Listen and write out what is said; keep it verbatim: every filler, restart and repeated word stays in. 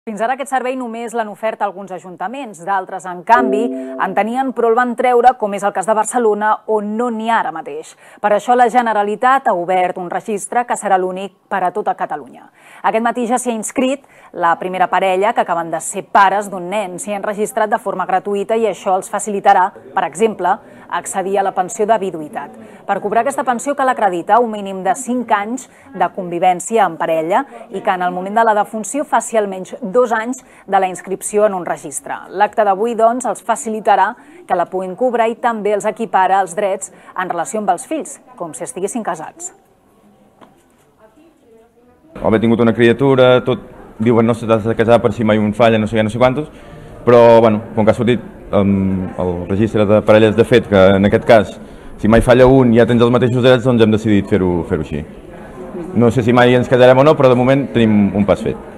Fins ara aquest servei només l'han ofert alguns ajuntaments, d'altres, en canvi, en tenien però el van treure, com és el cas de Barcelona, on no n'hi ha ara mateix. Per això la Generalitat ha obert un registre que serà l'únic per a tota Catalunya. Aquest matí ja s'hi ha inscrit la primera parella que acaben de ser pares d'un nen. S'hi han registrat de forma gratuïta i això els facilitarà, per exemple, accedir a la pensió de viduïtat. Per cobrar aquesta pensió cal acreditar un mínim de cinc anys de convivència en parella i que en el moment de la defunció faci almenys dos anys de la inscripció en un registre. L'acte d'avui, doncs, els facilitarà que la puguin cobrar i també els equipara els drets en relació amb els fills, com si estiguessin casats. Haver tingut una criatura, tot diuen no s'ha de casar per si mai un falla, no sé què, no sé quantos, però bueno, com que ha sortit um, el registre de parelles de fet, que en aquest cas, si mai falla un ja tens els mateixos drets, doncs hem decidit fer-ho fer-ho així. No sé si mai ens casarem o no, però de moment tenim un pas fet.